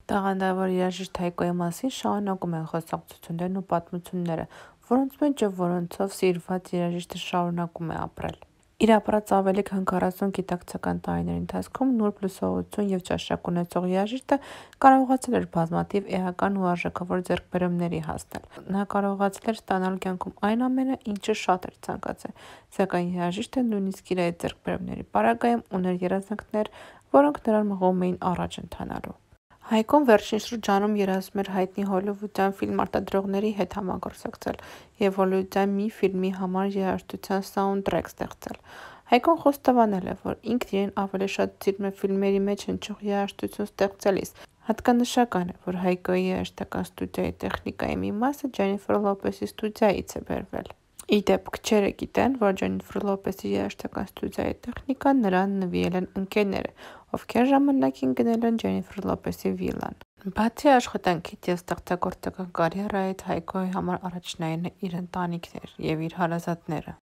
Տաղանդավոր երաժիշտ Հայկոյի մասին շարունակում են խոսակցություններն ու պատմությունները, որոնց մեջ և որոնցով սիրված երաժիշտը շարունակում է ապրել։ Իր ապրած ավելի քան 40 գիտակցական տարիների ընթացքում նուրբ լսողություն և ճաշակ ունեցող երաժիշտը կարողացել էր բազմաթիվ էական ու արժեքավոր ձեռքբերումների հասնել։ Նա կարողացել էր ստանալ կյանքում այն ամենը, ինչը շատ էր ցանկացել, սակայն երաժիշտը նույնիսկ իր այդ ձեռքբերումների պարագայում ուներ երազանքներ, որոնք նրան մղում էին առաջ ընթանալու։ Հայկոն վերջին շրջանում երազում էր հայտնի հոլիվուդյան ֆիլմարտադրողների հետ համագործակցել և հոլիվուդյան մի ֆիլմի համար երաժշտության սաունդթրեք ստեղծել։ Հայկոն խոստովանել է, որ ինքն իրեն ավելի շատ սիրում է ֆիլմերի մեջ հնչող երաժշտություն ստեղծելիս։ Հատկանշական է, որ Հայկոյի երաժշտական ստուդիայի տեխնիկայի մի մասը Ջենիֆեր Լոպեսի ստուդիայից է բերվել։ Ի դեպ, քչերը գիտեն, որ Ջենիֆեր Լոպեսի երաժշտական ստուդիայի տեխնիկան նրան նվիրել են ընկերները, ովքեր ժամանակին գնել են Ջենիֆեր Լոպեսի վիլլան։ Բացի աշխատանքից և ստեղծագործական կարիերայից, Հայկոյի համար առաջնայինը իր ընտանիքն էր և իր հարազատները։